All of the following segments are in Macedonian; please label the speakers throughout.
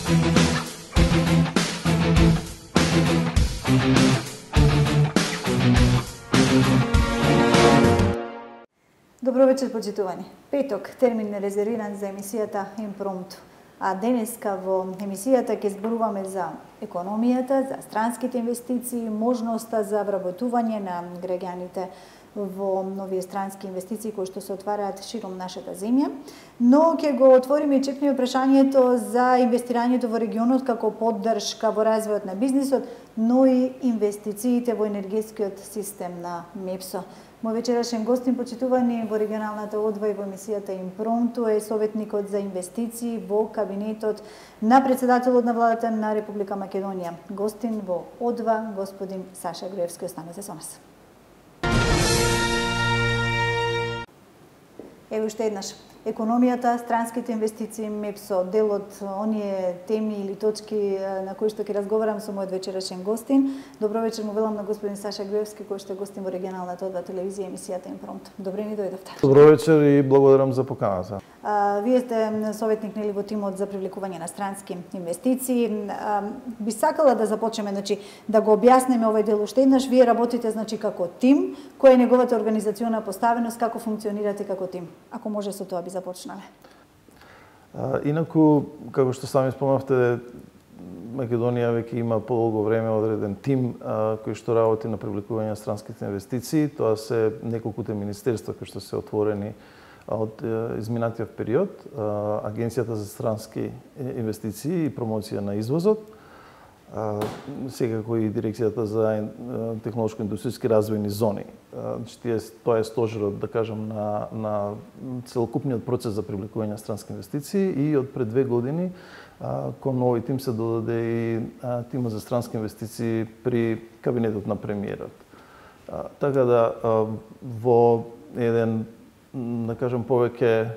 Speaker 1: Добро вечер, почитувани. Петок, термин резервиран за емисијата Импромту. А денеска во емисијата ќе зборуваме за економијата, за странските инвестиции, можноста за вработување на граѓаните во нови странски инвестиции кои што се отвараат широм нашата земја, но ќе го отвориме и чекнеме прашањето за инвестирањето во регионот како поддршка во развојот на бизнисот, но и инвестициите во енергетскиот систем на МЕПСО. Мој вечерашен гостин, почитувани во регионалната одва и во емисијата Импромту, е советникот за инвестиции во кабинетот на председателот на владата на Република Македонија. Гостин во одва, господин Саша Груевски. Останете со нас. Ево уште еднаш. Економијата, странските инвестиции, МЕПСО, дел од оние теми или точки на кои што ќе разговарам со мојот вечерашен гостин. Добро вечер му велам на господин Саша Груевски, кој што е гостин во регионалната одва телевизија емисијата Импромту. Добре ни дојдовте.
Speaker 2: Добро вечер и благодарам за поканата.
Speaker 1: Вие сте советник нели во тимот за привлекување на странски инвестиции. Би сакала да започнеме, да го објаснеме овој дел уште еднаш. Вие работите како тим, која е неговата организациона поставеност, како функционирате како тим. Ако може со тоа би започнале.
Speaker 2: Инаку, како што сами спомнавте, Македонија веќе има подолго време одреден тим кој што работи на привлекување на странските инвестиции. Тоа се неколкуте министерства кои што се отворени од изминатиот период, Агенцијата за странски инвестиции и промоција на извозот, секако и Дирекцијата за технолошко-индустријски развојни зони. Тоа е стожерот, да кажам, на целокупниот процес за привлекување на странски инвестиции и од пред 2 години кон овој тим се додаде и тимот за странски инвестиции при кабинетот на премиерот. Така да во еден, да кажам, повеќе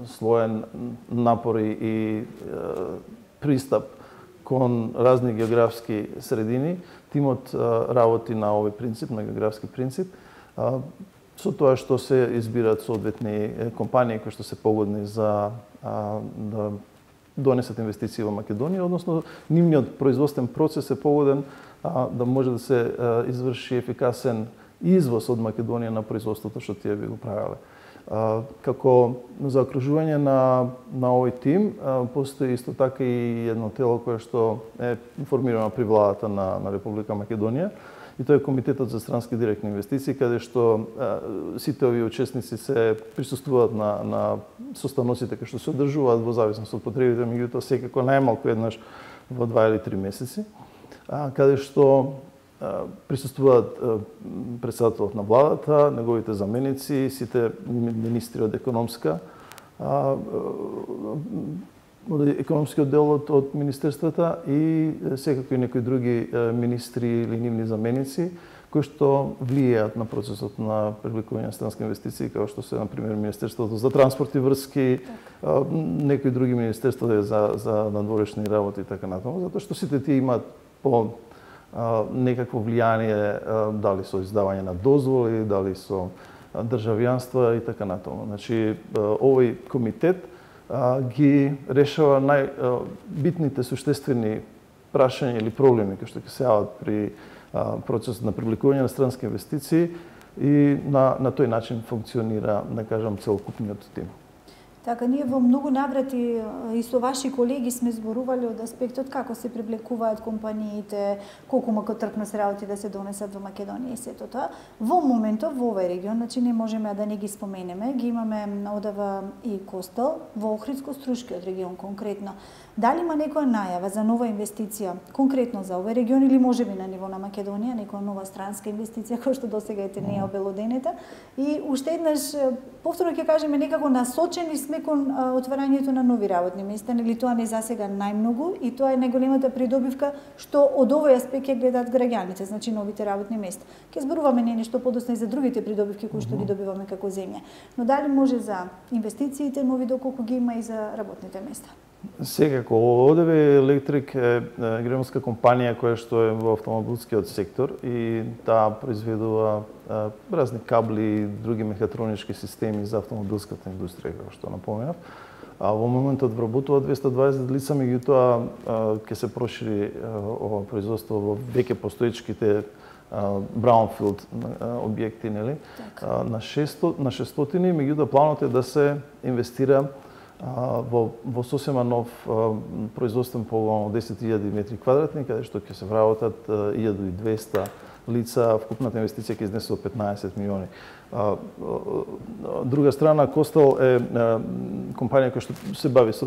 Speaker 2: слоен напор и пристап кон разни географски средини, тимот работи на овој принцип, на географски принцип, со тоа што се избират соодветни компании кои што се погодни за да донесат инвестиции во Македонија, односно нивниот производствен процес е погоден да може да се изврши ефикасен извоз од Македонија на производството што тие би го правеле. Како заокружување на овој тим, постои исто така и едно тело кое што е формирано при владата на Република Македонија, и тоа е Комитетот за странски директни инвестиции, каде што сите овие учесници се присуствуваат на состаноците кои што се одржуваат во зависност од потребите, меѓутоа секако најмалку еднаш во 2 или 3 месеци, каде што присуствуваат председателот на владата, неговите заменици, сите министри од економскиот дел од министерствата и секако и некои други министри или нивни заменици кои што влијаат на процесот на привлекување на странски инвестиции, како што се, например, Министерството за транспорт и врски, некои други министерства за надворешни работи и така натаму, затоа што сите тие имаат по некакво влијание, дали со издавање на дозволи, дали со државјанства и така натаму. Значи, овој комитет ги решава најбитните суштествени прашања или проблеми кои што ќе се јават при процесот на привлекување на странски инвестиции и на тој начин функционира, да кажам, целокупниот тим.
Speaker 1: Така, ние во многу наврати и со ваши колеги сме зборували од аспектот како се привлекуваат компаниите, колку макотрпно се работи да се донесат во Македонија и сето тоа. Во моментов во овој регион, значи не можеме да не ги споменеме, ги имаме одава и Костел, во Охридско-Струшкиот регион конкретно. Дали има некоја најава за нова инвестиција конкретно за овој регион или можеби на ниво на Македонија, некоја нова странска инвестиција која што досега не е обелоденета? И уште еднаш повторно ќе кажеме, некако насочени сме кон отварањето на нови работни места, нели тоа не засега најмногу и тоа е најголемата придобивка што од овој аспект ќе гледаат граѓаните, значи новите работни места. Ќе зборуваме не нешто подоцна и за другите придобивки кои што ги добиваме како земја. Но дали може за инвестициите нови доколку ги има и за работните места?
Speaker 2: Секако, ОДВ Електрик е германска компанија која што е во автомобилскиот сектор и таа произведува разни кабли и други мехатронички системи за автомобилската индустрија, како што напоменав. Во моментот вработува 220 лица, меѓутоа ќе се прошири ова производство во веќе постоечките brownfield објекти, нели? На 600, меѓутоа планот е да се инвестира во сосема нов производствен погон од 10.000 метри квадратни, каде што ќе се вработат 1.200 лица, вкупната инвестиција ќе изнесе 15 милиони. Друга страна, Костел е компанија која што се бави со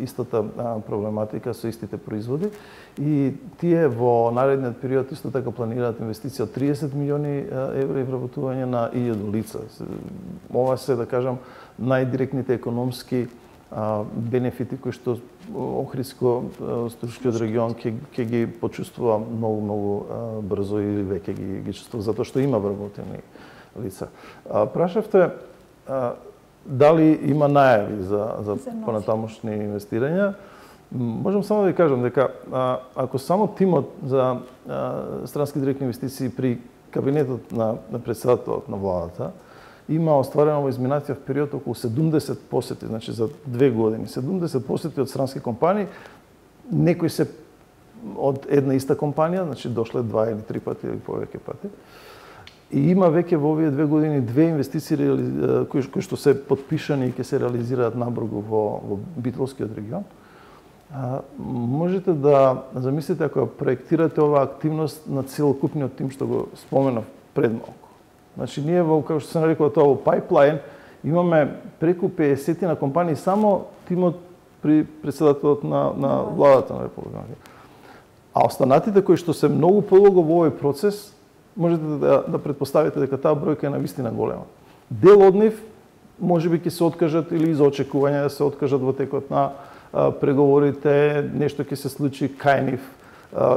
Speaker 2: истата проблематика, со истите производи и тие во наредниот период исто така планираат инвестиција од 30 милиони евра и вработување на 1000 лица. Ова се, да кажам, најдиректните економски бенефити кои што Охридско-Струшкиот регион ќе ги почувствува многу брзо или веќе ги чувствува, затоа што има вработени лица. Прашавте дали има најави за понатамошни инвестирања. Можам само да ви кажам дека ако само тимот за странски директни инвестиции при кабинетот на претседателот на владата има остварено во изминатиот период околу 70 посети, значи за 2 години. 70 посети од странски компании, некои се од една иста компанија, значи дошле 2 или 3 пати или повеќе пати. И има веќе во овие 2 години 2 инвестиции кои што се потпишани и ќе се реализираат набргу во Битолскиот регион. Можете да замислите ако проектирате оваа активност на целокупниот тим што го споменав пред малку. Значи, ние во, како што се нарекува тоа, во пайплайн, имаме преку 50 на компании, само тимот при претседателот на владата на Република. А останатите кои што се многу подолго во овој процес, можете да предпоставите дека таа бројка е навистина голема. Дел од нив можеби ќе се откажат или из очекување да се откажат во текот на преговорите, нешто ќе се случи кај нив,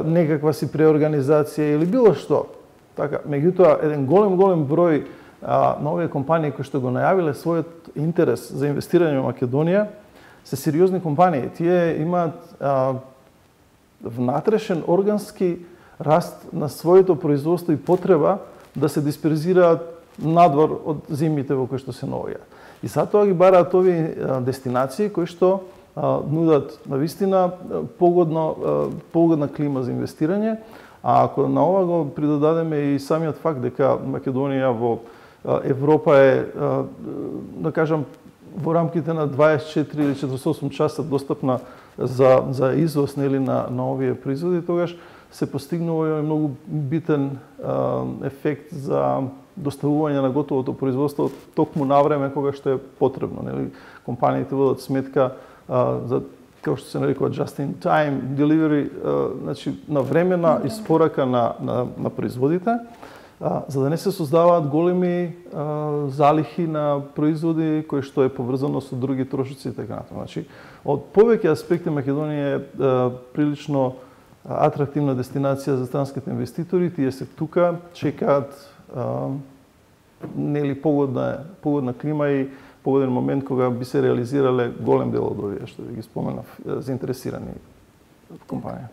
Speaker 2: некаква си преорганизација или било што. Така, меѓутоа, еден голем број на овие компании кои што го најавиле својот интерес за инвестирање во Македонија се сериозни компании. Тие имаат внатрешен органски раст на своето производство и потреба да се дисперзираат надвор од земјите во кои што се наоѓаат. И затоа ги бараат овие дестинации кои што нудат навистина погодна клима за инвестирање. А ако на ова го придодадеме и самиот факт дека Македонија во Европа е, да кажам, во рамките на 24 или 48 часа достапна за извоз нели на овие производи, тогаш се постигнува многу битен ефект за доставување на готовото производство токму на време кога што е потребно, нели? Компаниите водат сметка за како што се нарекува just in time delivery, значи навремена испорака на производите, за да не се создаваат големи залихи на производи кои што е поврзано со други трошоци и така натаму. Значи, од повеќе аспекти Македонија е прилично атрактивна дестинација за странските инвеститори, тие се тука, чекаат нели погодна клима и погоден момент кога би се реализирале голем дел од овие што ви ги споменав заинтересирани компанија.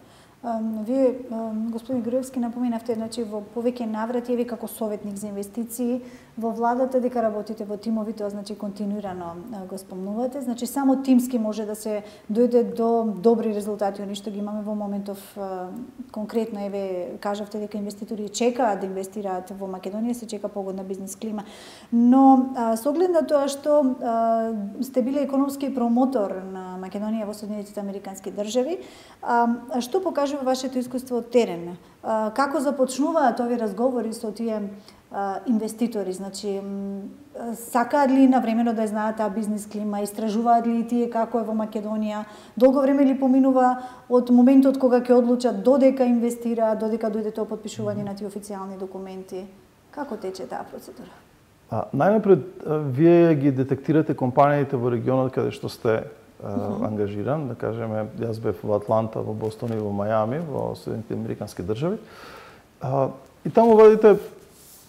Speaker 1: Вие, господин Груевски, напоменавте, значи, во повеќе наврати, ви како советник за инвестиции во владата, дека работите во тимови, тоа значи континуирано го спомнувате. Значи, само тимски може да се дојде до добри резултати, они што ги имаме во моментов. Конкретно, еве, кажавте дека инвеститори чекаат да инвестираат во Македонија, се чека погодна бизнес клима. Но, со оглед на тоа што сте биле економски промотор на Македонија во Соединетите Американски држави, што покажува вашето искуство од терен? Како започнуваат овие разговори со тие инвеститори? Значи, сакаат ли навремено да знаат таа бизнес клима, истражуваат ли тие како е во Македонија? Долго време ли поминува од моментот кога ќе одлучат додека инвестираат, додека дојде тоа подпишување на тие официјални документи? Како тече таа процедура?
Speaker 2: Најнапред, вие ги детектирате компаниите во регионот каде што сте ангажиран, да кажеме, јас бев во Атланта, во Бостон и во Мајами, во Соединетите Американски држави. И таму вадите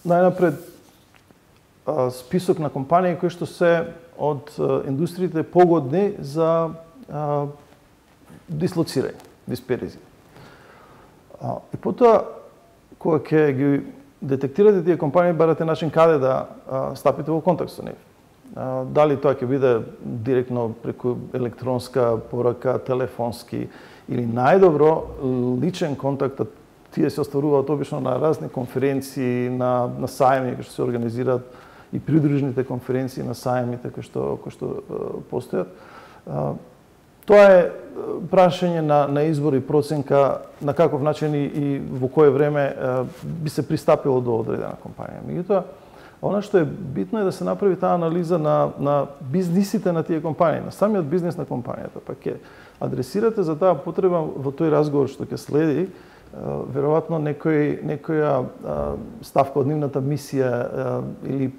Speaker 2: најнапред список на компании кои што се од индустриите погодни за дислоцирање, дисперзија. И потоа, кога ќе ги детектирате тие компании, барате начин каде да стапите во контакт со нив. Дали тоа ќе биде директно преку електронска порака, телефонски или најдобро личен контакт, тие се остваруваат обично на разни конференции, на сајми кои што се организираат и придружните конференции на сајмите кои што постојат. Тоа е прашање на избор и проценка на каков начин и во кое време би се пристапило до одредена компанија. Меѓутоа, она што е битно е да се направи таа анализа на бизнисите на тие компании, на самиот бизнис на компанијата, па ќе адресирате за таа потреба во тој разговор што ќе следи, веројатно некоја ставка од нивната мисија или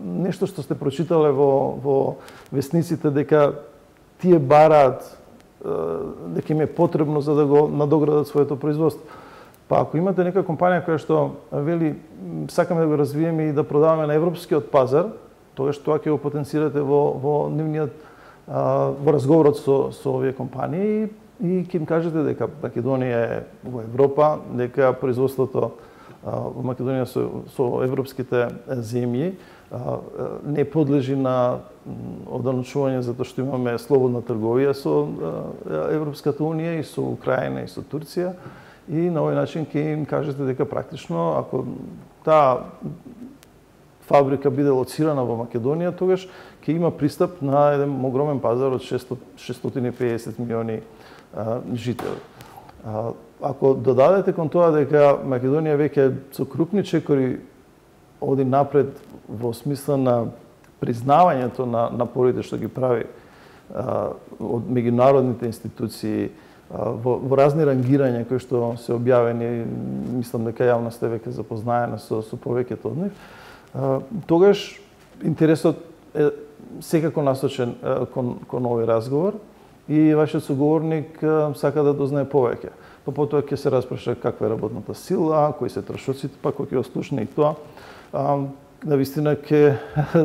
Speaker 2: нешто што сте прочитале во весниците дека тие бараат дека им е потребно за да го надоградат своето производство. Па ако имате нека компанија која што вели сакаме да го развиеме и да продаваме на европскиот пазар, тогаш тоа ќе го потенцирате во нивниот во разговорот со овие компании и ќе им кажете дека Македонија е во Европа, дека производството во Македонија со европските земји не подлежи на ограничување затоа што имаме слободна трговија со Европската унија и со Украина и со Турција. И на овој начин ќе им кажете дека практично, ако таа фабрика биде лоцирана во Македонија, тогаш ќе има пристап на еден огромен пазар од 650 милиони жители. Ако додадете кон тоа дека Македонија веќе со крупни чекори оди напред во смисла на признавањето на напорите што ги прави од меѓународните институции, во разни рангирања кои што се објавени, мислам дека јавноста е веќе запознаена со повеќето од нив, тогаш интересот е секако насочен кон овој разговор и вашиот соговорник сака да дознае повеќе. Па потоа ќе се распраша каква е работната сила, кои се трошоците, па кој ќе ослушне и тоа. Навистина ќе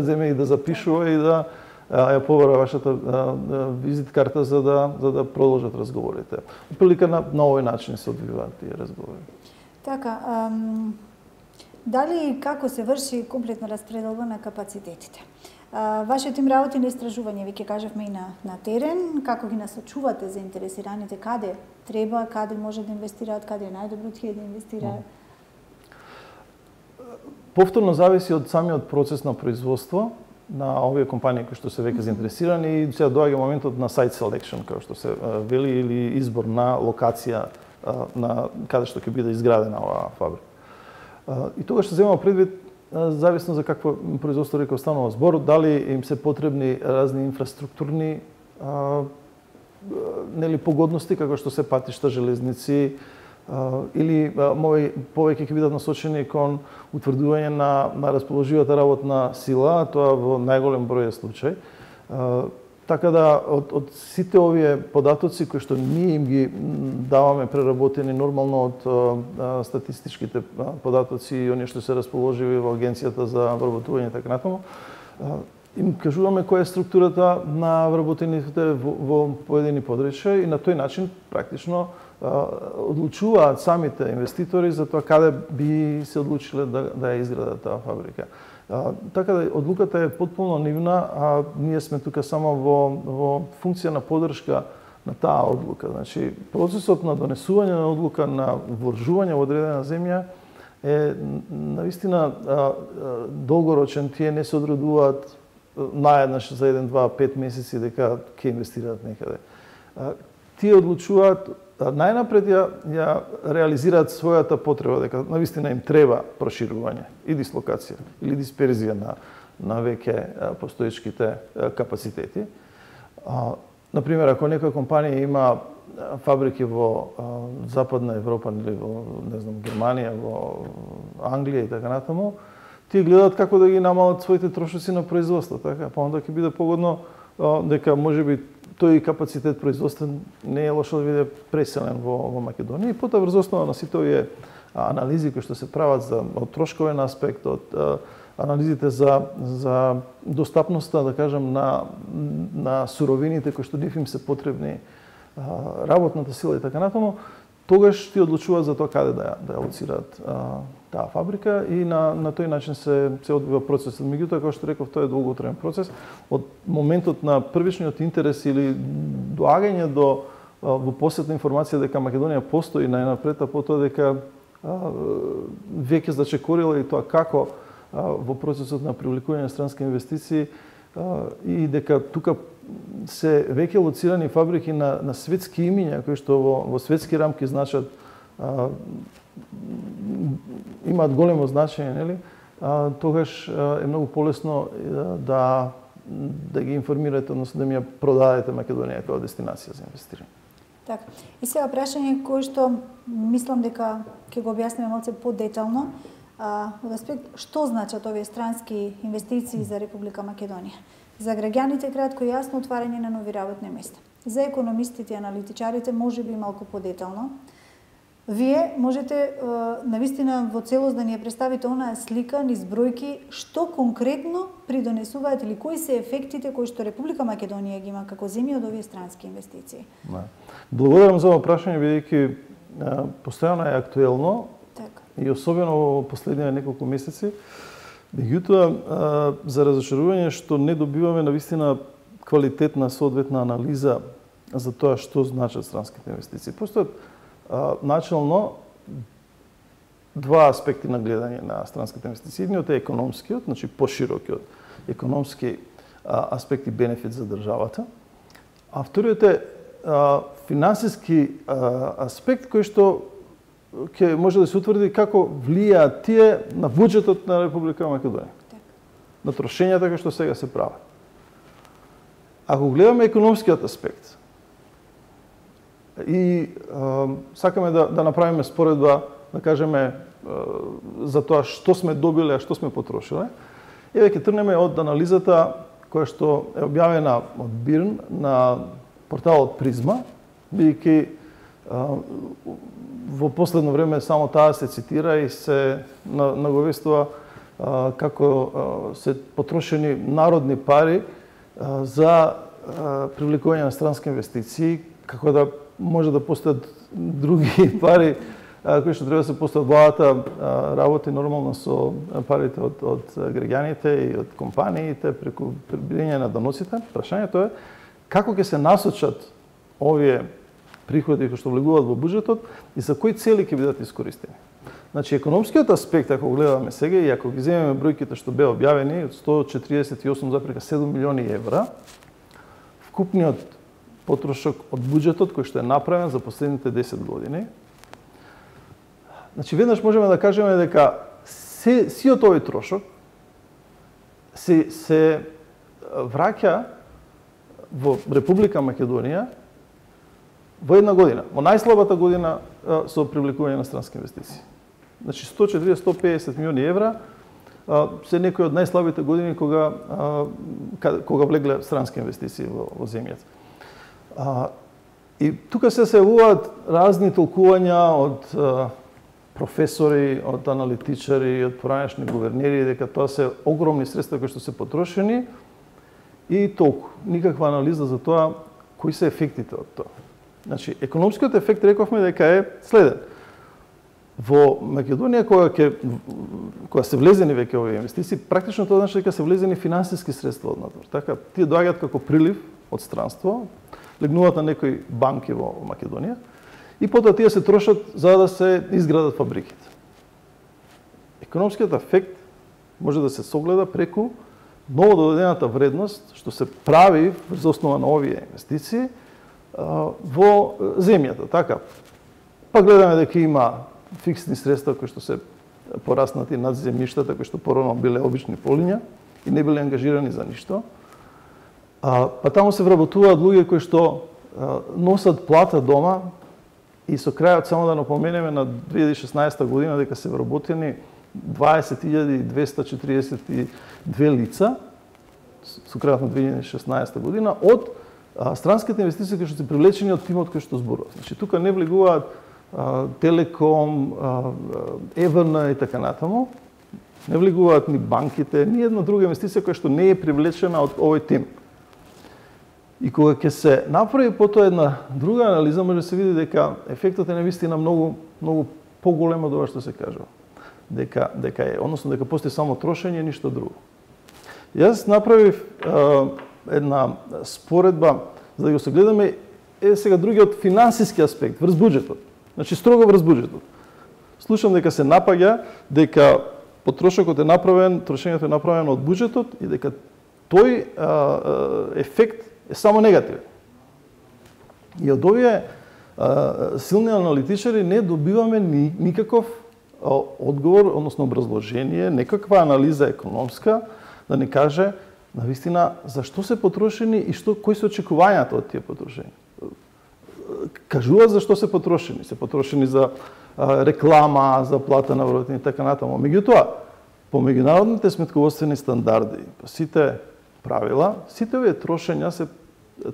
Speaker 2: земе и да запишува и да ја побара вашата визит карта за да продолжат разговорите. Прилика на овој начин се одвиваат тие разговори.
Speaker 1: Така, дали и како се врши комплетна распределба на капацитетите? Вашиот им работи на истражување, веќе кажавме и на терен, како ги насочувате заинтересираните, каде треба, каде може да инвестираат, каде е најдобро тие да инвестираат?
Speaker 2: Повторно зависи од самиот процес на производство на овие компании кои што се веќе заинтересирани и сега доаѓа моментот на site selection, како што се вели, или избор на локација на каде што ќе биде изградена оваа фабрика. И тогаш се земува предвид зависно за какво производство реков станува збор, дали им се потребни разни инфраструктурни погодности како што се патишта, железници, или повеќе ќе бидат насочени кон утврдување на расположивата работна сила, тоа во најголем број случај. Така да од сите овие податоци кои што ние им ги даваме преработени нормално од статистичките податоци и оние што се расположиви во Агенцијата за вработување и така натаму, им кажуваме која е структурата на вработените во поедини подрачја и на тој начин практично одлучуваат самите инвеститори за тоа каде би се одлучиле да ја изградат таа фабрика. Така да одлуката е потполно нивна, а ние сме тука само во функција на поддршка на таа одлука. Значи, процесот на донесување на одлука на вложување во одредена земја е навистина долгорочен. Тие не се одредуваат наеднаш за 1, 2, 5 месеци дека ќе инвестираат некаде. Тие одлучуваат најнапред ја реализираат својата потреба, дека навистина им треба проширување и дислокација или дисперзија на веќе постоечките капацитети. Например, ако некоја компанија има фабрики во Западна Европа или во, не знам, Германија, во Англија и така натаму, тие гледаат како да ги намалат своите трошоци на производство, така, па онда ќе биде погодно дека можеби тој капацитет производствен не е лошо да биде преселен во Македонија и потоа врз основа на сите овие анализи кои што се прават од трошковен аспект, од анализите за достапноста, да кажем, на суровините кои што нив им се потребни, работната сила и така натаму, тогаш ти одлучуваат за тоа каде да ја лоцираат таа фабрика и на тој начин се одвива процесот. Меѓутоа, како што реков, тоа е долготраен процес. Од моментот на првичниот интерес или доагање до во посетна информација дека Македонија постои најнапред, а потоа дека веќе зачекорила и тоа како во процесот на привлекување на странски инвестиции и дека тука се веќе лоцирани фабрики на светски имиња кои што во светски рамки значат имаат големо значење, нели? Тогаш е многу полесно да ги информирате, односно да ми ја продадете Македонија како дестинација за инвестирање.
Speaker 1: Така. И сега прашање кој што мислам дека ќе го објасниме малце подетално, од аспект што значат овие странски инвестиции за Република Македонија. За граѓаните кратко и јасно отварање на нови работни места. За економистите и аналитичарите можеби малку подетално. Вие можете навистина во целост да ни ја представите онаа слика низ бројки што конкретно придонесуваат или кои се ефектите кои што Република Македонија ги има како земја од овие странски инвестиции.
Speaker 2: Благодарам за ова прашање, бидејќи постојано е актуелно и особено во последниве неколку месеци. Меѓутоа, за разочарување што не добиваме навистина квалитетна соодветна анализа за тоа што значат странските инвестиции. Постојат начално два аспекти на гледање на странските инвестиции. Едниот е економскиот, значи поширокиот економски аспект и бенефит за државата, а вториот е финансиски аспект кој што ќе може да се утврди како влијаат тие на буџетот на Република Македонија. На трошењата кои што сега се прават. Ако гледаме економскиот аспект и сакаме да направиме споредба, да кажеме за тоа што сме добиле, а што сме потрошиле, еве ќе тргнеме од анализата која што е објавена од БИРН на порталот Призма, бидејќи во последно време само таа се цитира и се наговестува како се потрошени народни пари за привлекување на странски инвестиции, како да може да постојат други пари кои што треба да се постојат владата работи нормално со парите од граѓаните и од компаниите преку прибирање на доноците. Прашањето е како ќе се насочат овие приходи кои што влегуваат во буџетот и за кои цели ќе бидат искористени. Значи, економскиот аспект, ако го гледаме сега и ако ги земеме бројките што беа објавени, од 148,7 милиони евра, вкупниот потрошок од буџетот кој што е направен за последните 10 години. Значи, веднаш можеме да кажеме дека сиот овој трошок се враќа во Република Македонија во една година, во најслабата година со привлекување на странски инвестиции. Значи 140-150 милиони евра се некои од најслабите години кога влегле странски инвестиции во земјата. И тука се јавуваат разни толкувања од професори, од аналитичари, од поранешни гувернери дека тоа се огромни средства кои што се потрошени и толку. Никаква анализа за тоа кои се ефектите од тоа. Значи, економскиот ефект рековме дека е следен. Во Македонија, кога се влезени веќе овие инвестиции, практично тоа значи дека се влезени финансиски средства однатор. Така, тие доаѓаат како прилив од странство, легнуваат на некои банки во Македонија и потоа тие се трошат за да се изградат фабриките. Економскиот ефект може да се согледа преку ново додадената вредност што се прави врз основа на овие инвестиции во земјата, така. Па гледаме дека има фиксни средства кои што се пораснати над земјиштата кои што порано биле обични полиња и не биле ангажирани за ништо. Па таму се вработуваат луѓе кои што носат плата дома и со крајот само да напоменеме на 2016 година дека се вработени 20.242 лица со крајот на 2016 година од странските инвестиции кои што се привлечени од тимот кој што зборува. Значи тука не влегуваат Телеком, ЕВН и така натаму. Не влегуваат ни банките, ни една друга инвестиција која што не е привлечена од овој тим. И кога ќе се направи потоа една друга анализа, може да се види дека ефектот е навистина многу поголем од ова што се кажува. Дека е, односно дека постои само трошење и ништо друго. Јас направив една споредба за да го согледаме сега другиот финансиски аспект врз буџетот. Значи строго врз буџетот. Слушам дека се напаѓа дека потрошокот е направен, трошењето е направено од буџетот и дека тој ефект е само негативен. И од овие силни аналитичари не добиваме никаков одговор, односно образложение, некаква анализа економска да ни каже навистина зашто се потрошени и кои се очекувањата од тие потрошени. Кажуваат зашто се потрошени. Се потрошени за реклама, за плата на вработени и така натаму. Меѓутоа, по меѓународните сметководствени стандарди, по сите правила, сите овие трошења се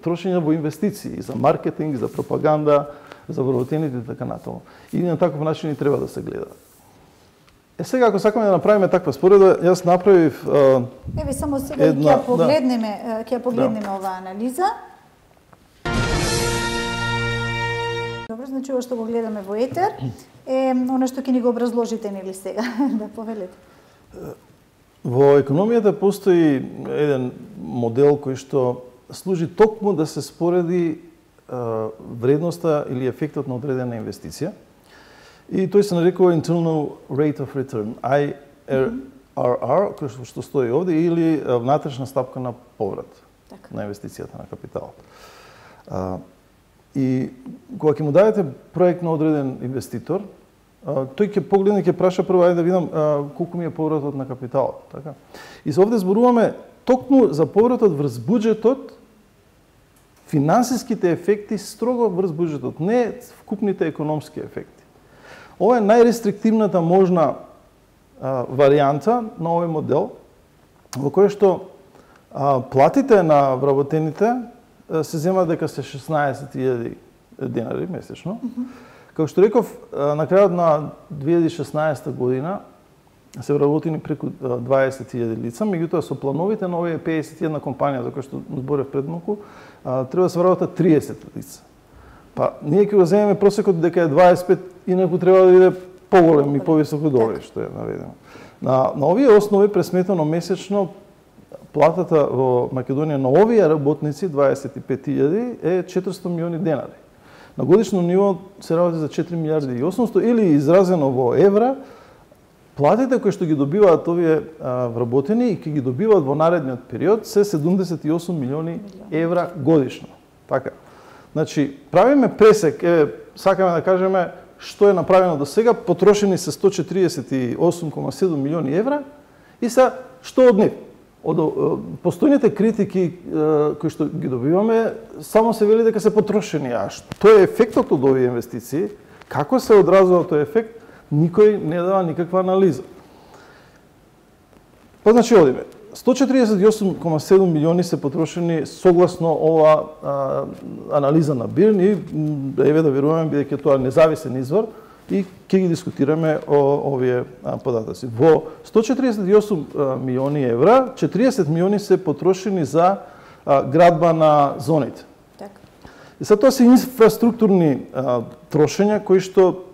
Speaker 2: трошења во инвестиции, за маркетинг, за пропаганда, за вработените и така натаму. И на таков начин и треба да се гледа. Сега, ако сакаме да направиме таква споредба, јас направив
Speaker 1: Еве само сега ќе погледнеме оваа анализа. Добро, значи ова што го гледаме во етер е она што ќе ни го образложите нели сега, да повелите.
Speaker 2: Во економијата постои еден модел кој што служи токму да се спореди вредноста или ефектот на одредена инвестиција. И тој се нарекува Internal Rate of Return, IRR, кој што стои овде, или внатрешна стапка на поврат на инвестицијата на капиталот. И кога ќе му дадете проект на одреден инвеститор, тој ќе погледне, ќе праша прво да видам колку ми е повратот на капиталот, така? И се овде зборуваме токму за повратот врз буџетот, финансиските ефекти строго врз буџетот, не вкупните економски ефекти. Ова е најрестриктивната можна варијанта на овој модел, во кој што платите на вработените се земат дека се 16.000 денари месечно. Како што реков, на крајот на 2016 година се вработени преку 20.000 лица, меѓутоа со плановите на овие 51 компанија за кои што зборев пред малку, треба да се вработат 30 лица. Па, ние ќе го земеме просекот дека е 25, инаку треба да биде поголем и повисок од овој што е наведено. На овие основи пресметано месечно платата во Македонија на овие работници 25.000 е 400 милиони денари. На годишно ниво се работи за 4 милиарди и 800 или изразено во евра, платите кои што ги добиваат овие вработени и ќе ги добиваат во наредниот период се 78 милиони евра годишно. Така. Значи, правиме пресек, сакаме да кажеме што е направено до сега, потрошени се 148,7 милиони евра и са што од нив? Од постојните критики кои што ги добиваме, само се вели дека се потрошени, а што е ефектот од овие инвестиции, како се одразува тој ефект, никој не дава никаква анализа. Па значи одиме. 148,7 милиони се потрошени согласно ова анализа на БИРН и еве да веруваме бидејќи тоа независен извор и ќе ги дискутираме овие податоци. Во 148 милиони евра, 40 милиони се потрошени за градба на зоните. И са тоа се инфраструктурни трошења кои што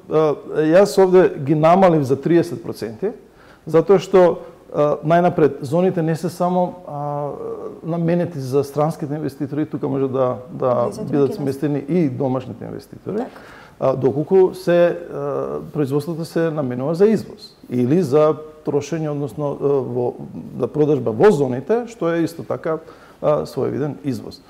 Speaker 2: јас овде ги намалив за 30%, затоа што најнапред, зоните не се само наменети за странските инвеститори, тука може да бидат сместени и домашните инвеститори, доколку производството се наменува за извоз или за трошење, односно за продажба во зоните, што е исто така своевиден извоз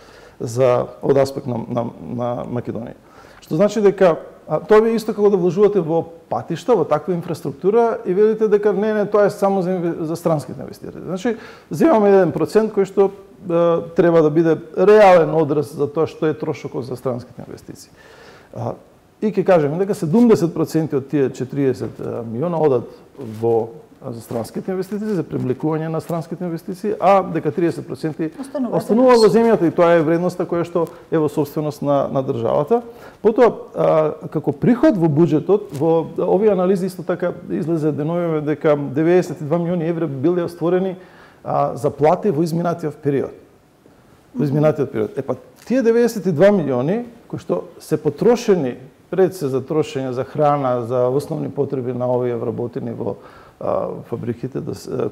Speaker 2: од аспект на Македонија. Што значи дека тоа ви исто како да вложувате во патишта, во таква инфраструктура и велите дека не, тоа е само за странските инвеститори. Значи, земаме 1% кој што треба да биде реален одраз за тоа што е трошокот за странските инвестиции. И ќе кажеме дека 70% од тие 40 милиона одат за странските инвестиции, за привлекување на странските инвестиции, а дека 30% останува во земјата и тоа е вредноста која што е во собственост на државата. Потоа, како приход во буџетот, во овие анализи исто така излезе деновиве дека 92 милиони евра биле остворени за плати во изминатиот период. тие 92 милиони кои што се потрошени пред се за трошење за храна, за основни потреби на овие вработени во фабриките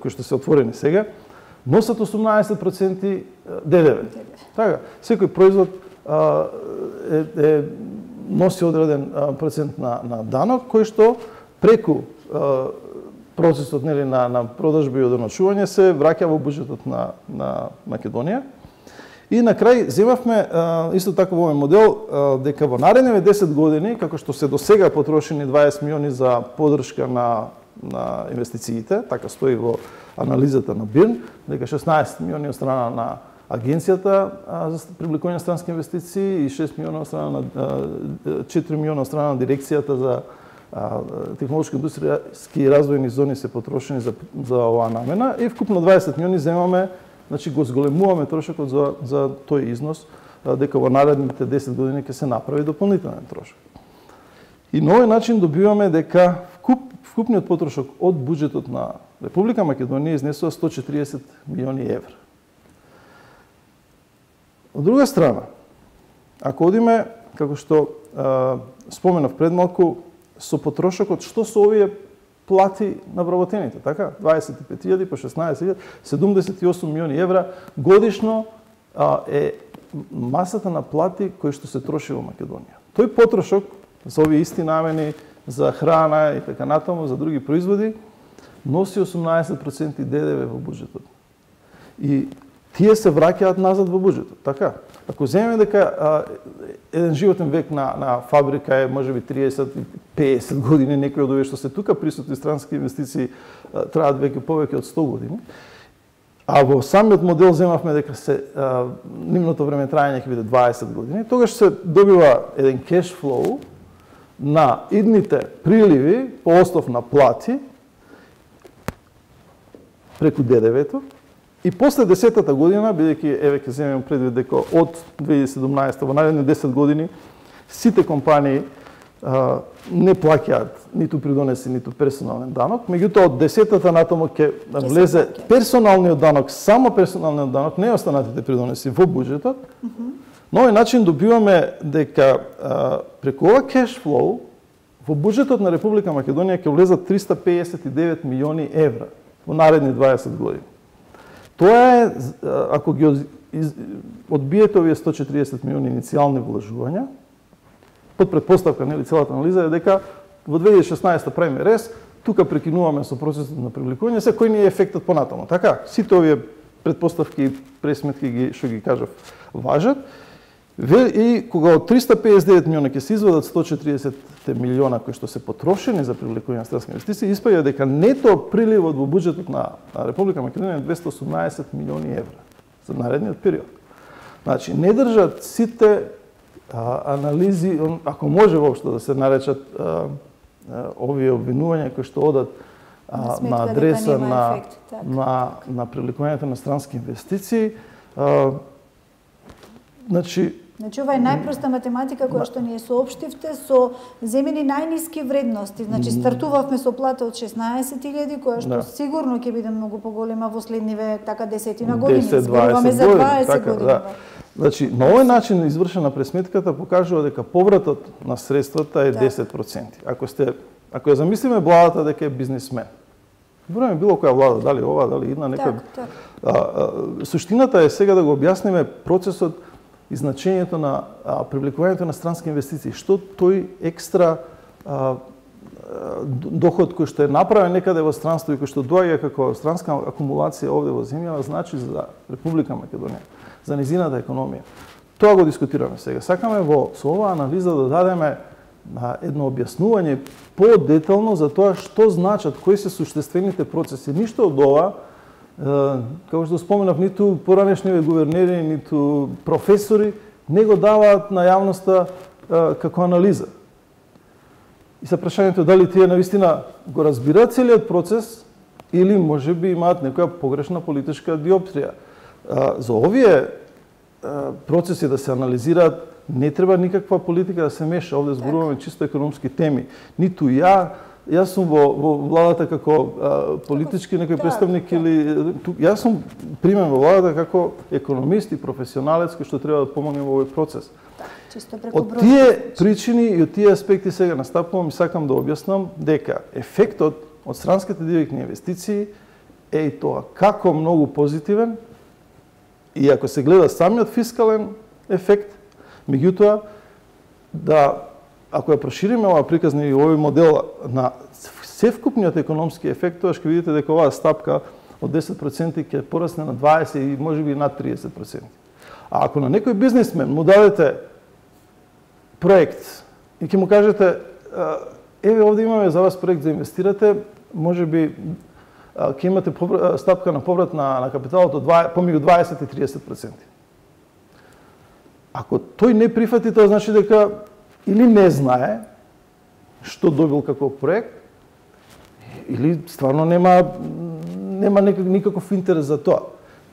Speaker 2: кои што се отворени сега, носат 18% ДДВ. Така, секој производ носи одреден процент на данок кој што преку процесот на продажби и одоночување се враќа во буџетот на Македонија. И на крај земавме исто така во овој модел дека во наредните 10 години, како што се досега потрошени 20 милиони за поддршка на инвестициите, така стои во анализата на БИРН, дека 16 милиони од страна на Агенцијата за привлекување на странски инвестиции и 6 милиона од страна на 4 милиона од страна на Дирекцијата за технолошки индустријски развојни зони се потрошени за оваа намена и вкупно 20 милиони земаме, значи го зголемуваме трошокот за тој износ, дека во наредните 10 години ќе се направи дополнителен трошок. И на овој начин добиваме дека вкупниот потрошок од буџетот на Република Македонија изнесува 140 милиони евра. Од друга страна, ако одиме, како што споменав пред малку, со потрошокот, што со овие плати на вработените, така? 25.000 по 16.000, 78 милиони евра годишно е масата на плати кои што се троши во Македонија. Тој потрошок за овие исти намени, за храна и така натаму, за други производи, носи 18% ДДВ во буџетот. И тие се враќаат назад во буџетот, така? Ако земеме дека еден животен век на фабрика е можеби 30-50 години, некои од овие што се тука присутни странски инвестиции траат веќе повеќе од 100 години, а во самиот модел земавме дека нивното време трајање ќе биде 20 години, тогаш се добива еден кеш флоу на идните приливи по основ на плати преку ДДВ-то. И после 10-та година, бидејќи еве ќе земеме предвид дека од 2017 во наредни 10 години сите компании не плаќаат ниту придонеси, ниту персонален данок, меѓутоа од 10-та натаму ќе влезе персоналниот данок, само персоналниот данок, не останатите придонеси во буџетот. На овој начин добиваме дека преку ова кеш флоу во буџетот на Република Македонија ќе влезат 359 милиони евра во наредни 20 години. Тоа е, ако ги одбиете овие 140 милиони иницијални вложувања, под предпоставка, нели, целата анализа е дека во 2016 правиме рез, тука прекинуваме со процесот на привлекување, се кој ни е ефектот понатаму, така? Сите овие предпоставки и пресметки што ги кажав важат. И кога од 359 милиона ќе се извадат 140 милиона кои што се потрошени за привлекување на странски инвестиции, испаѓа дека нето приливот во буџетот на Република Македонија е 218 милиони евра за наредниот период. Значи, не држат сите анализи, ако може воопшто да се наречат овие обвинувања кои што одат на адреса на привлекувањето на странски инвестиции, Значи, ова е најпроста математика која што ни ја соопштивте со земени најниски вредности. Значи, стартувавме со плата од 16.000, која што сигурно ќе биде многу поголема во следниве така 10 години. Зборуваме за 20 години. Да. Значи, на овој начин извршена пресметката покажува дека повратот на средствата е 10%. Ако ја замислиме владата дека е бизнисмен, зборуваме било која влада, дали ова, дали една, некоја... Суштината е сега да го објасниме процесот и значењето на привлекувањето на странски инвестиции. Што тој екстра доход кој што е направен некаде во странство и кој што доаѓа како странска акумулација овде во земјава, значи за Република Македонија, за низината економија. Тоа го дискутираме сега. Сакаме со оваа анализа да дадеме едно објаснување по-детално за тоа што значат, кои се суштествените процеси. Ништо од ова, како што споменав, ниту поранешниве гувернери, ниту професори не го даваат на јавноста како анализа. И се прашањето дали тие навистина го разбираат целиот процес или можеби имаат некоја погрешна политичка диоптрија. За овие процеси да се анализираат не треба никаква политика да се меша. Овде зборуваме чисто економски теми. Ниту ја, Јас сум во владата како политички некој представник или јас сум примен во владата како економист и професионалец кој што треба да помогне во овој процес. Од тие причини и од тие аспекти сега настапувам и сакам да објаснам дека ефектот од странските директни инвестиции е и тоа како многу позитивен и ако се гледа самиот фискален ефект, меѓутоа ако ја прошириме оваа приказна и овој модел на севкупниот економски ефект, тоа ќе видите дека оваа стапка од 10% ќе порасне на 20 и можеби над 30%. А ако на некој бизнисмен му дадете проект и ќе му кажете еве овде имаме за вас проект за инвестирате, можеби ќе имате стапка на поврат на капиталот од помеѓу 20 и 30%. Ако тој не прифати, тоа значи дека или не знае што добил како проект, или стварно нема никаков интерес за тоа.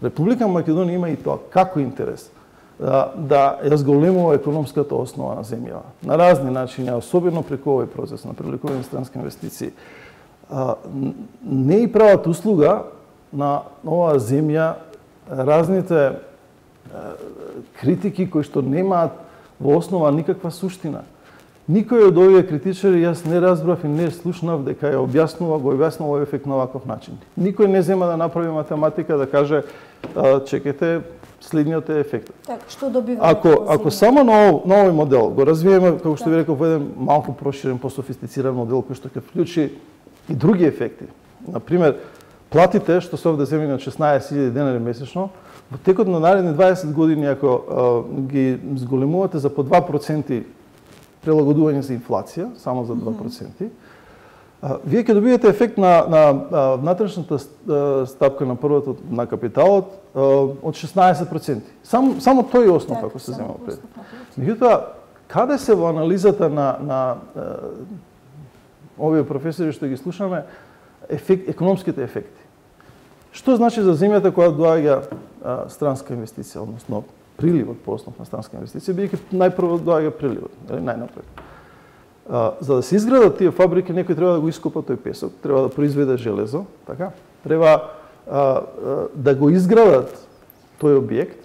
Speaker 2: Република Македонија има и тоа како интерес да ја зголемува економската основа на земјава на разни начини, особено преку овој процес на привлекување странски инвестиции. Не и прават услуга на оваа земја разните критики кои што немаат во основа никаква суштина. Никој од овие критичари јас не разбрав и не слушнав дека ја објаснува овој ефект на ваков начин. Никој не зема да направи математика да каже чекайте следниот е ефектот.
Speaker 1: Така, што добива?
Speaker 2: Ако само на овој модел го развиеме, како што ви реков, во еден малку проширен, пософистициран модел кој што ќе вклучи и други ефекти. Например, платите што се овде земени од 16.000 денари месечно, во текот на наредни 20 години, ако ги зголемувате за по 2% прилагодување за инфлација, само за 2%, вие ќе добиете ефект на внатрешната стапка на првото на капиталот од 16%. Само тој основ, ако се зема пред. Меѓутоа, каде се во анализата на овие професори што ги слушаме економските ефекти? Што значи за земјата која доаѓа странска инвестиција, односно приливот по основ на странска инвестиција, бидејќи најпрво доаѓа приливот, или најнапред. За да се изградат тие фабрики, некој треба да го ископа тој песок, треба да произведе железо, така? Треба да го изградат тој објект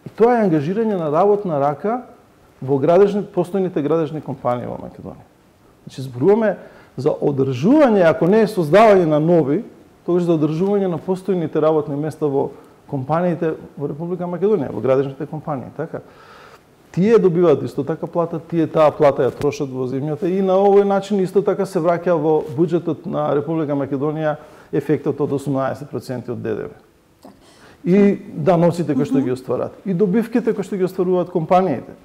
Speaker 2: и тоа е ангажирање на работна рака во постојните градежни компании во Македонија. Значи зборуваме за одржување, ако не е создавање на нови, тогаш за одржување на постојните работни места во компаниите во Република Македонија, во градежните компании, така? Тие добиваат исто така плата, тие таа плата ја трошат во земјата и на овој начин исто така се враќа во буџетот на Република Македонија ефектот од 18% од ДДВ. И даноците кои што ги остварат, и добивките кои што ги остваруваат компаниите.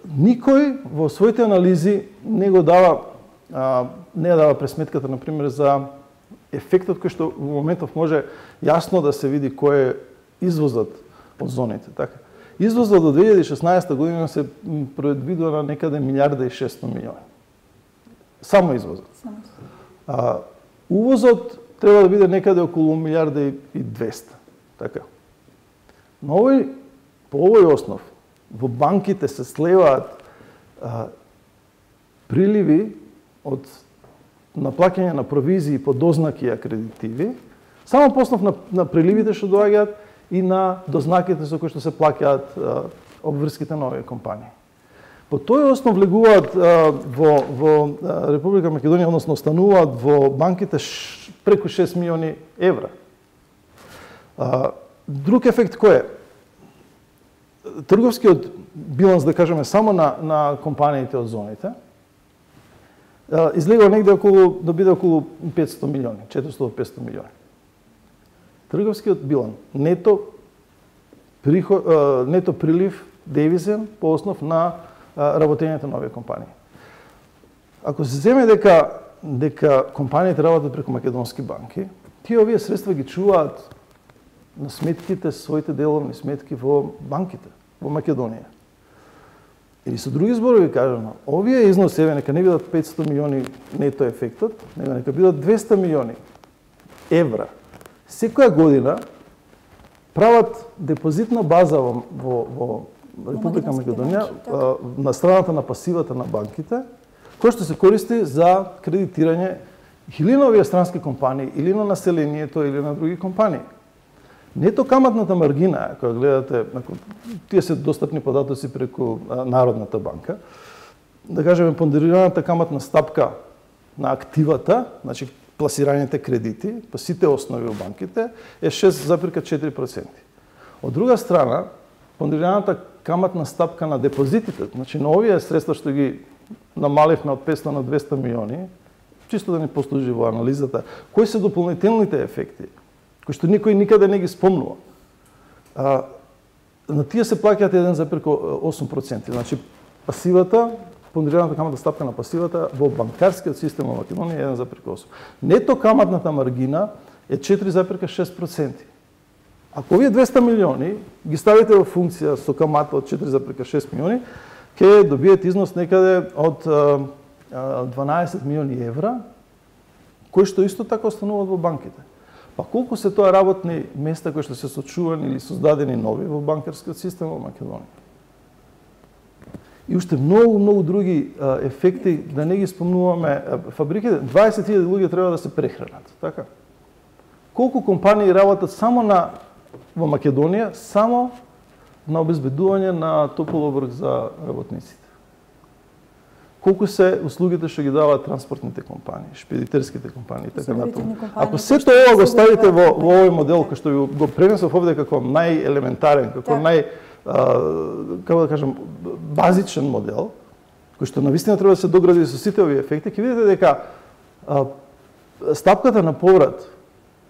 Speaker 2: Никој во своите анализи не дава пресметката, например, за ефектот кој што во моментов може јасно да се види кој е извозот од зоните. Така. Извозот до 2016 година се предвидува на некаде 1,6 милиарди. Само извозот. Увозот треба да биде некаде околу 1,2 така. По овој основ, во банките се слеваат приливи од наплаќање на провизии по дознаки и акредитиви, само по основ на приливите што доаѓаат и на дознаките со кои што се плаќаат обврските на овие компании. По тој основ влегуваат во Република Македонија, односно остануваат во банките преку 6 милиони евра. Друг ефект кој е? Трговскиот биланс, да кажеме, само на компаниите од зоните, излегува негде да биде околу 500 милиони, 400-500 милиони. Трговскиот биланс, нето прилив девизен по основ на работењето на овие компании. Ако се земе дека компаниите работат преку македонски банки, тие овие средства ги чуваат на сметките, своите деловни сметки во банките, во Македонија. Или со други зборови кажано, овие износеви нека не бидат 500 милиони нето ефектот, нека бидат 200 милиони евра. Секоја година прават депозитна база во Република Македонија на страната на пасивата на банките, кој што се користи за кредитирање или на овие странски компании, или на населението, или на други компании. Нето каматната маргина, која гледате, тие се достапни податоци преку Народната банка, да кажеме понderираната каматна стапка на активата, значи пласираните кредити, по сите основи во банките, е 6,4%. Од друга страна, понderираната каматна стапка на депозитите, значи на овие средства што ги намаливме од 500 на 200 милиони, чисто да ни послужи во анализата, кои се дополнителните ефекти, кои што никој никаде не ги спомнува. На тие се плаќаат 1,8%. Значи, пасивата, понderираната каматна стапка на пасивата во банкарскиот систем во Македонија е 1,8%. Нето каматната маргина е 4,6%. Ако овие 200 милиони ги ставите во функција со камата од 4,6 милиони, ќе добиете износ некаде од 12 милиони евра, кои што исто така остануваат во банките. Па колку се тоа работни места кои што се сочувани или создадени нови во банкарскиот систем во Македонија? И уште многу други ефекти, да не ги спомнуваме. Фабриките, 20.000 луѓе треба да се прехранат, така? Колку компании работат само во Македонија, само на обезбедување на топол оброк за работниците? Колку се услугите што ги даваат транспортните компании, шпедитерските компании и така натаму. Ако сето ова го ставите во овој модел кој што го пренесов овде како најелементарен, како како да кажам, базичен модел, кој што навистина треба да се догради со сите овие ефекти, ќе видите дека стапката на поврат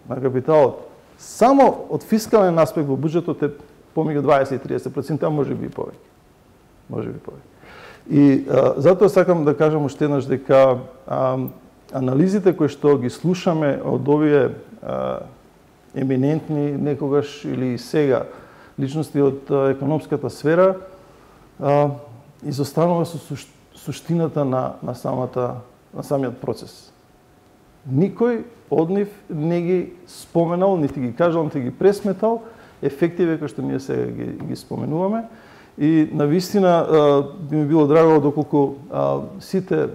Speaker 2: на капиталот само од фискален аспект во буџетот е помеѓу 20-30%, а може би и повеќе. Може би повеќе. И затоа сакам да кажам уште еднаш дека анализите кои што ги слушаме од овие еминентни некогаш или сега личности од економската сфера изостанува со суштината на самиот процес. Никој од нив не ги споменал, нити ги кажал, нити ги пресметал ефективе кои што ние сега ги споменуваме. И навистина би ми било драго доколку сите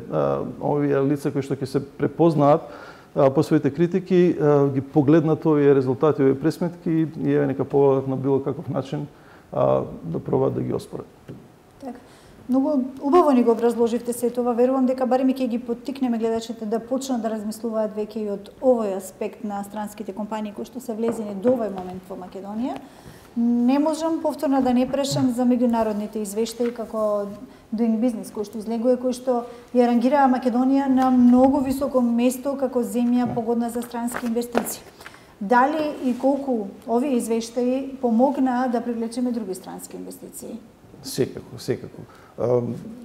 Speaker 2: овие лица кои што ќе се препознаат по своите критики ги погледнат овие резултати, овие пресметки и еве нека поводат на било каков начин да пробаат да ги оспорат.
Speaker 1: Така. Многу убаво ни го образложивте се тоа. Верувам дека барем ќе ги поттикнеме гледачите да почнат да размислуваат веќе и од овој аспект на странските компании кои што се влезени до овој момент во Македонија. Не можам повторно да не прашам за меѓународните извештаи како Doing Business, кој што излегува, кој што ја рангира Македонија на многу високо место како земја погодна за странски инвестиции. Дали и колку овие извештаи помогнаа да привлечеме други странски инвестиции?
Speaker 2: Секако.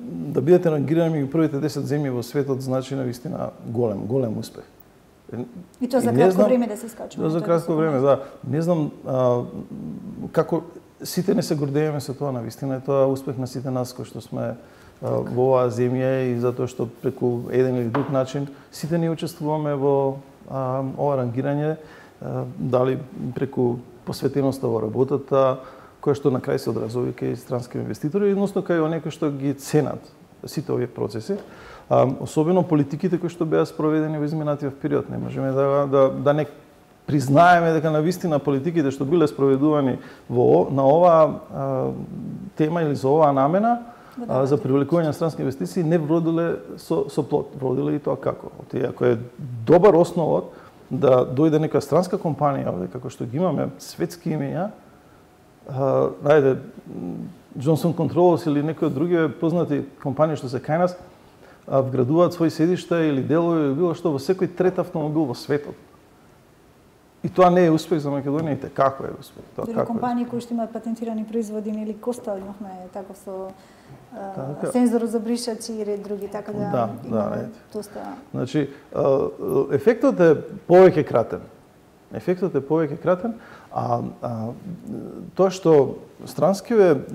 Speaker 2: Да бидете рангирани меѓу првите 10 земји во светот значи навистина голем успех.
Speaker 1: И тоа за кратко време да се скачува.
Speaker 2: За кратко време, да. Не знам како сите не се гордееме со тоа, навистина е тоа успех на сите нас кои што сме во оваа земја и затоа што преку еден или друг начин сите ние учествуваме во ова рангирање, дали преку посветеноста во работата, која што на крај се одразува кај странски инвеститори, односно кај оние кои што ги ценат сите овие процеси. Особено политиките кои што беа спроведени во изминатиот период. Не можеме да не признаеме дека навистина политиките што биле спроведувани на оваа тема или за оваа намена за привлекување на странски инвестиции не вродиле со плод. Вродиле и тоа како? Ако е добар основот да дојде нека странска компанија овде, како што ги имаме светски имења, најде Johnson Controls или некои од други познати компании што се кај нас, вградуваат своји седишта или делови или било што во секој трет автомобил во светот. И тоа не е успех за Македонија, и како е успех.
Speaker 1: Тоа компании кои што имаат патентирани производи или Костел имавме таков со сензор за бришачи и ред други, така да имаме доста.
Speaker 2: Значи, ефектот е повеќе кратен. А тоа што странскиве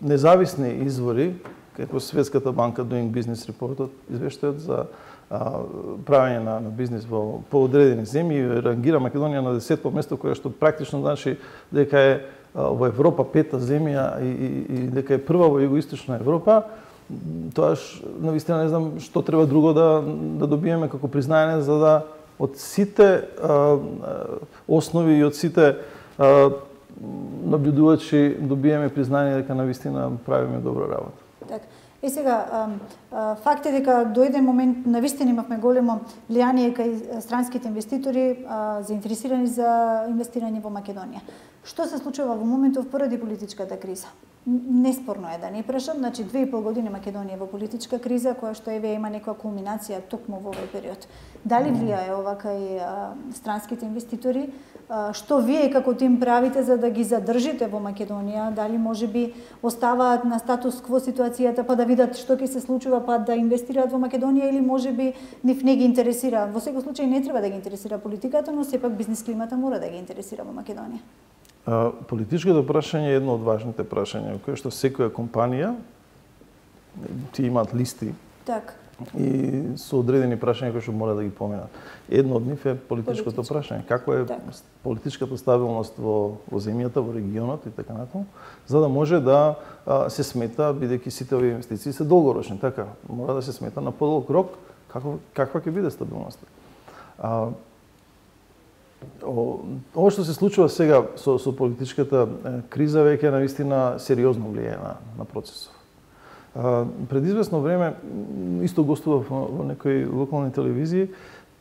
Speaker 2: независни извори, како Светската банка Doing Business реportот, извештајот за правење на бизнис во поодредени земји, рангира Македонија на 10-то место, кое што практично значи дека е во Европа 5-та земја и дека е прва во југоисточна Европа, тоаш навистина не знам што треба друго да добиеме како признање за да од сите основи и од сите наблюдувачи добиеме признање дека навистина правиме добра работа.
Speaker 1: Така. И сега, факт е дека дојде момент, навистина имавме големо влијание кај странските инвеститори заинтересирани за инвестирање во Македонија. Што се случува во моментов поради политичката криза? Неспорно е да не прашам, значи 2,5 години Македонија во политичка криза, која што еве има некоја кулминација токму во овој период. Дали влијае ова кај странските инвеститори? Што вие како тим правите за да ги задржите во Македонија? Дали можеби оставаат на статус кво ситуацијата па да видат што ќе се случува па да инвестираат во Македонија или можеби нив не ги интересира? Во секој случај не треба да ги интересира политиката, но сепак бизнис климата мора да ги интересира во Македонија.
Speaker 2: Политичкото прашање е едно од важните прашања, кое што секоја компанија ти имаат листи.
Speaker 1: Так.
Speaker 2: И со одредени прашања кои што мора да ги поминат. Едно од нив е политичкото прашање. Како е политичката стабилност во земјата, во регионот и така натаму, за да може да се смета, бидејќи сите овие инвестиции се долгорочни, така, мора да се смета на подолг рок каква ќе биде стабилноста. Ова што се случува сега со политичката криза веќе навистина сериозно влијае на процесот. Пред известно време исто гостував во некои локални телевизии,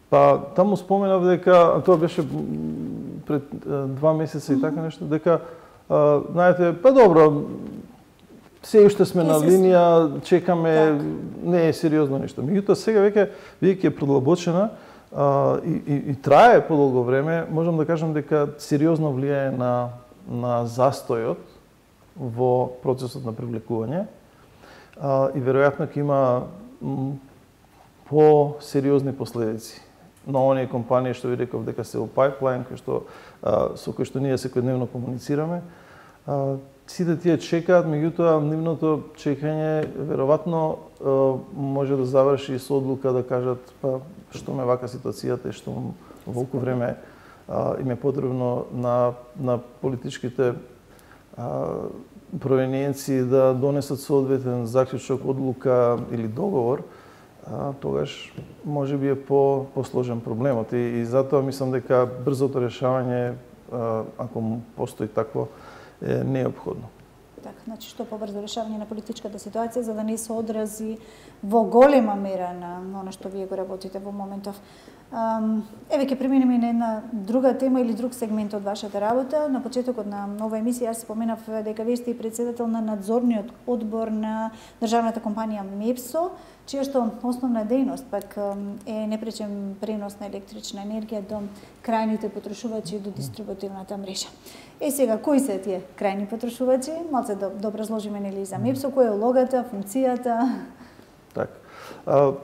Speaker 2: па таму споменав дека тоа беше пред 2 месеца и така нешто, дека знаете, па добро, се уште сме на линија, чекаме, не е сериозно нешто. Меѓутоа сега веќе бидејќи е продлабочена и трае подолго време, можам да кажам дека сериозно влијае на застојот во процесот на привлекување и веројатно ќе има по-сериозни последици на оние компании што ви реков дека се во пайплайн, со кои што ние секојдневно комуницираме. Сите тие чекаат, меѓутоа нивното чекање веројатно може да заврши со одлука да кажат па што ме вака ситуацијата и што волку време им е потребно на политичките провиненции да донесат соодветен заклучок, одлука или договор, тогаш може би е посложен проблемот и затоа мислам дека брзото решавање, ако постои такво, е неопходно.
Speaker 1: Така, значи што побрзо решавање на политичката ситуација за да не се одрази во голема мера на она што вие го работите во моментов. Еве ќе преминеме на една друга тема или друг сегмент од вашата работа. На почетокот на нова емисија јас споменав дека вие сте и председател на надзорниот одбор на државната компанија МЕПСО, чија што основна дејност пак е непречен пренос на електрична енергија до крајните потрошувачи до дистрибутивната мрежа. Сега, кои се тие крајни потрошувачи? Малце да образложиме нели за МЕПСО, која е улогата, функцијата?
Speaker 2: Така.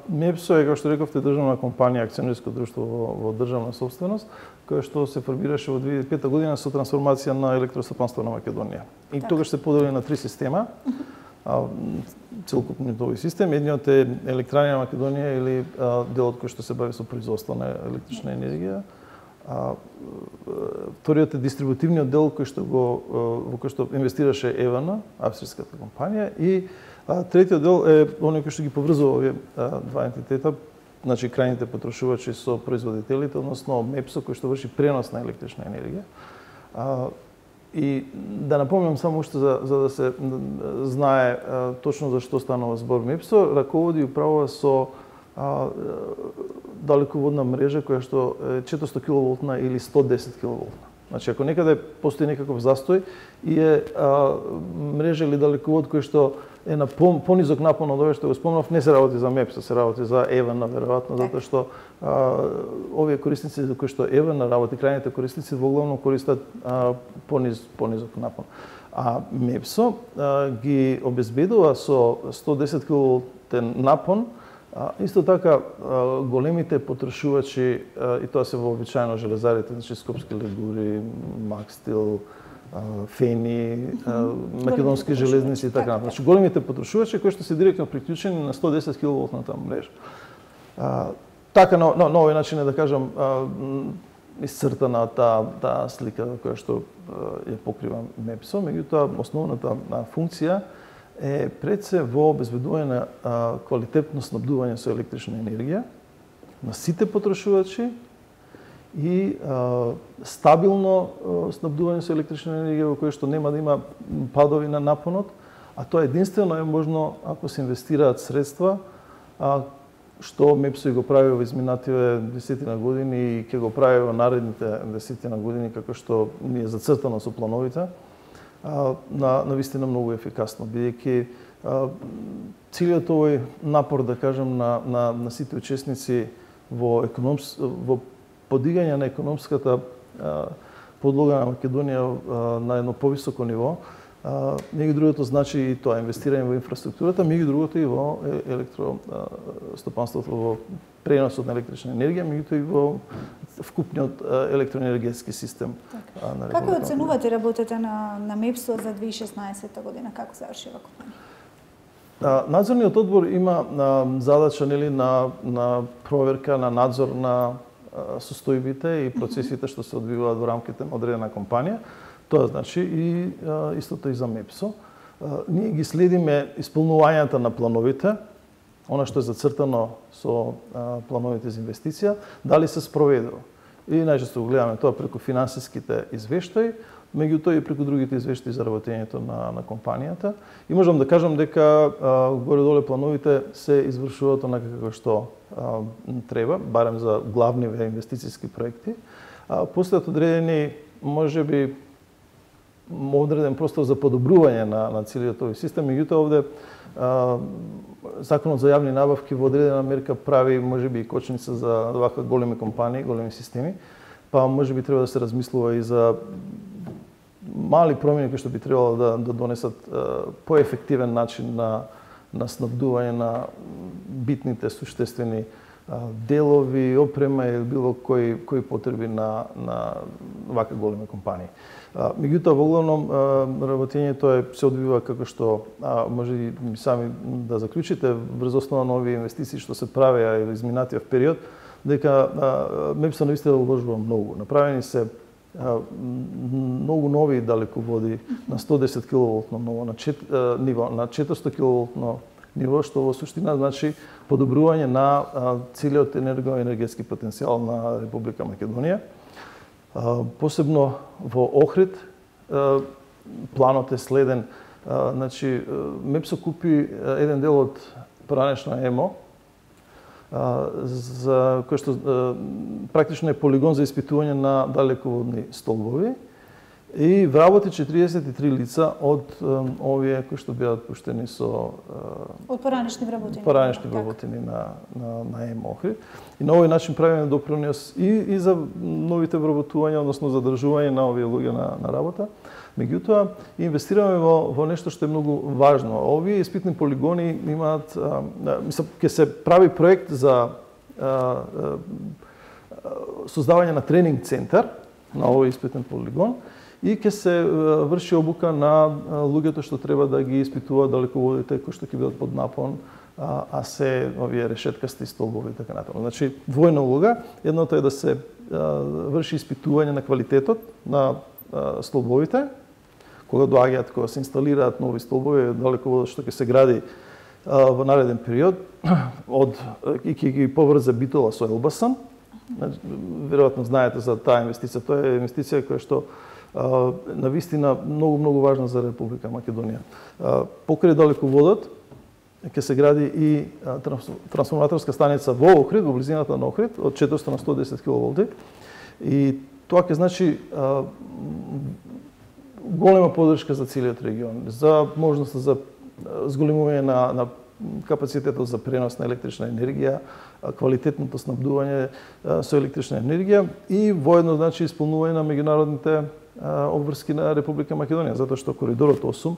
Speaker 2: МЕПСО е, како што рековте, државна компанија, акционерско друштво во државна собственост, која што се формираше во 2005 година со трансформација на електростопанство на Македонија. И тогаш се подели на 3 система. Целокупниот овој систем, едниот е Електрани на Македонија или делот кој што се бави со производство на електрична енергија. Вториот е дистрибутивниот дел во кој што инвестираше ЕВН, австриската компанија, и третиот дел е оној кој што ги поврзува овие два ентитета, значи крајните потрошувачи со производителите, односно МЕПСО кој што врши пренос на електрична енергија. И да напомнам само уште за да се знае точно за што станува збор. МЕПСО раководи и управува со далеководна мрежа која што е 400 киловолтна или 110 киловолтна. Значи, ако некаде постои некаков застој и е мрежа или далековод кој што е на понизок напон од овој што го спомнав, не се работи за МЕПСО, се работи за ЕВН, веројатно, затоа што овие корисници за кои што ЕВН работи, крајните корисници воглавно користат понизок напон. А МЕПСО ги обезбедува со 110 киловолтен напон. Исто така, големите потрошувачи, и тоа се вообичаено железарите, значи Скопски легури, Макстил, Фени, Македонски железници и така натаму. Значи големите потрошувачи кои што се директно приклучени на 110 киловолтната мрежа. Така на овој начин е да кажам исцртана таа слика која што ја покрива МЕПСО, меѓутоа основната функција е пред се во обезбедување на квалитетно снабдување со електрична енергија на сите потрошувачи и стабилно снабдување со електрична енергија во кое што нема да има падови на напонот, а тоа единствено е можно ако се инвестираат средства, што МЕПСО го прави во изминативе 10 години и ќе го прави во наредните 10 години, како што ни е зацртано со плановите, на вистина многу ефикасно, бидејќи целиот овој напор, да кажем, на сите учесници во подигање на економската подлога на Македонија на едно повисоко ниво, меѓу другото значи и тоа инвестирање во инфраструктурата, меѓу другото и во електростопанството, во преносот на електрична енергија, меѓуто и во вкупниот електроенергетски систем.
Speaker 1: Како оценувате работата на МЕПСО за 2016 година? Како завршила компанија?
Speaker 2: Надзорниот одбор има задача на проверка, на надзор на состојбите и процесите што се одвиваат во рамките на одредена компанија. Тоа значи и истото и за МЕПСО. Ние ги следиме исполнувањето на плановите, она што е зацртано со плановите за инвестиција, дали се спроведува. И најчесто го гледаме тоа преку финансиските извештаи, меѓутоа и преку другите извештаи за работењето на компанијата. И можам да кажам дека горе-доле плановите се извршуваат онака како што треба, барем за главниве инвестициски проекти. Постојат одредени, можеби, одреден простор за подобрување на целиот овој систем, меѓутоа овде Законот за јавни набавки во одредена мерка прави можеби и кочница за ваква големи компании, големи системи, па можеби треба да се размислува и за мали промени кои што би требало да донесат поефективен начин на снабдување на битните суштествени делови, опрема или било кои потреби на ваква големи компании. Меѓутоа, во главном, работењето се одвива како што може и сами да заклучите врз основа на овие инвестиции што се правеа или изминатиот период, дека МЕПСО навистина уложува многу. Направени се многу нови далеководи на 110 киловолтно ниво, на 400 киловолтно ниво, што во суштина значи подобрување на целиот енергетски потенцијал на Република Македонија. Посебно во Охрид планот е следен. Значи, МЕПСО купи еден дел од поранешно ЕМО, за кој што практично е полигон за испитување на далеководни столбови и вработи 43 лица од овие кои што беа пуштени со
Speaker 1: од поранешни
Speaker 2: вработени на ЕМО Охрид. И на овој начин правиме допринос и за новите вработувања, односно задржување на овие луѓе на работа. Меѓутоа, инвестираме во нешто што е многу важно. Овие испитни полигони имаат, ќе се прави проект за создавање на тренинг центар на овој испитен полигон и ќе се врши обука на луѓето што треба да ги испитуваат далеководите кои што ќе бидат под напон, а се овие решеткасти столбови и така натаму. Значи, двојна улога. Едното е да се врши испитување на квалитетот на столбовите, кога доаѓаат, кога се инсталираат нови столбови, далеководот што ќе се гради во нареден период, и ќе ги поврзе Битола со Елбасан. Веројатно знаете за таа инвестиција. Тоа е инвестиција која што навистина многу важна за Република Македонија. Покрај далеководот ќе се гради и трансформаторска станица во Охрид, во близината на Охрид, од 400 на 110 киловолти. И тоа ќе значи голема поддршка за целиот регион, за можноста за зголемување на капацитетот за пренос на електрична енергија, квалитетното снабдување со електрична енергија и воедно значи исполнување на меѓународните обврски на Република Македонија, затоа што коридорот 8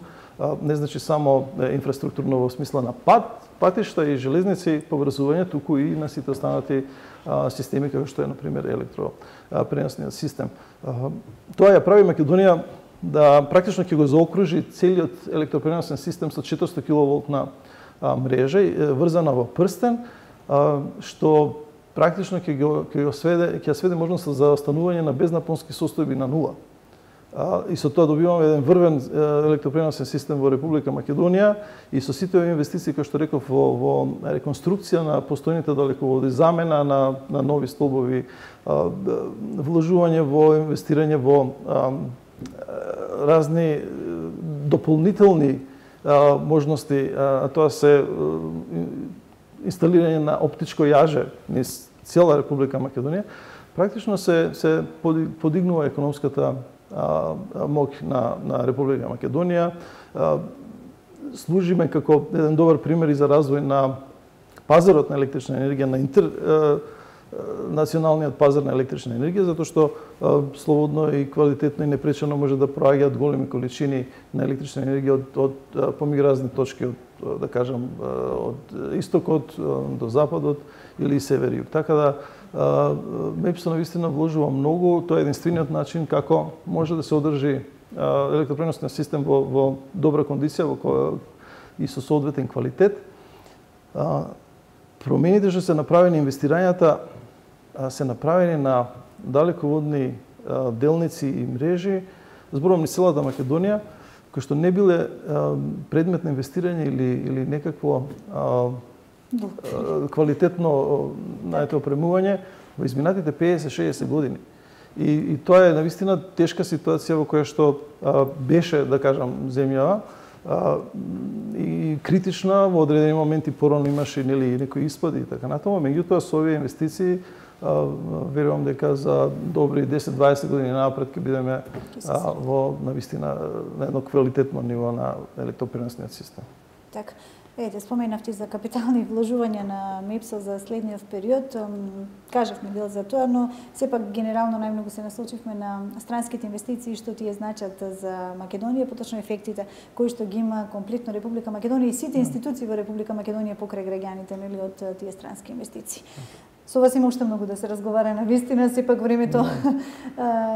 Speaker 2: не значи само инфраструктурно во смисла на патишта и железници поврзување, туку и на сите останати системи како што е на пример електропреносниот систем. Тоа ја прави Македонија да практично ќе го заокружи целиот електропреносен систем со 400 киловолтна мрежа врзана во прстен, што практично ќе сведе можноста за останување на безнапонски состојби на нула. И со тоа добиваме еден врвен електропреносен систем во Република Македонија и со сите овие инвестиции, кои што реков, во реконструкција на постојните далеководи, замена на нови столбови, вложување во инвестирање во разни дополнителни можности, а тоа се инсталирање на оптичко јаже низ цела Република Македонија, практично се подигнува економската моќ на Република Македонија. Служиме како еден добар пример и за развој на пазарот на електрична енергија, на националниот пазар на електрична енергија, затоа што слободно и квалитетно и непречено може да проаѓаат големи количини на електрична енергија од помеѓу точки, да кажам, од истокот до западот или север и југ. Така да МЕПС навистина вложува многу, тоа е единствениот начин како може да се одржи електропреносниот систем во добра кондиција и со соодветен квалитет. Промените што се направени, инвестирањата се направени на далеководни делници и мрежи, зборувам низ целата Македонија, кои што не биле предмет на инвестирање или некакво квалитетно опремување во изминатите 50-60 години. И тоа е навистина тешка ситуација во која што беше, да кажам, земјава и критична, во одредени моменти порано имаше некои испади и така натаму, меѓутоа со овие инвестиции верувам дека за добри 10-20 години напред ќе бидеме во навистина на едно квалитетно ниво на електропреносниот систем.
Speaker 1: Така. Споменавте за капитални вложувања на МЕПС за следниот период. Кажавме дел за тоа, но сепак генерално најмногу се насочивме на странските инвестиции, што тие значат за Македонија, поточно ефектите кои што ги има комплетно Република Македонија и сите институции во Република Македонија покрај граѓаните од тие странски инвестиции. Со вас има уште многу да се разговара, навистина, сепак времето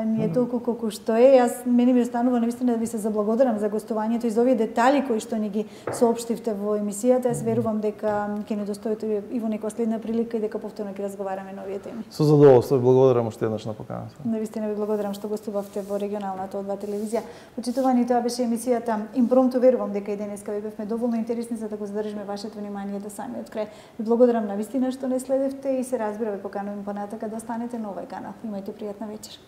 Speaker 1: ни е толку колку што е. Мене ми останува навистина да ви се заблагодарам за гостувањето и за овие детали кои што ни ги соопштивте во емисијата. Јас верувам дека ќе недостоите и во некоја следна прилика и дека повторно ќе разговараме на овие теми.
Speaker 2: Со задоволство, благодарам уште еднаш на поканата.
Speaker 1: Навистина ви благодарам што гостувавте во регионалната О2 телевизија. Почитувани, тоа беше емисијата Импромту. Верувам дека и денеска ви бевме доволно интересни за да го задржиме вашето внимание до самиот крај. Ви благодарам навистина што не следевте и се разбира, ве поканувам понатака да останете на овој канал. Имајте пријатна вечер.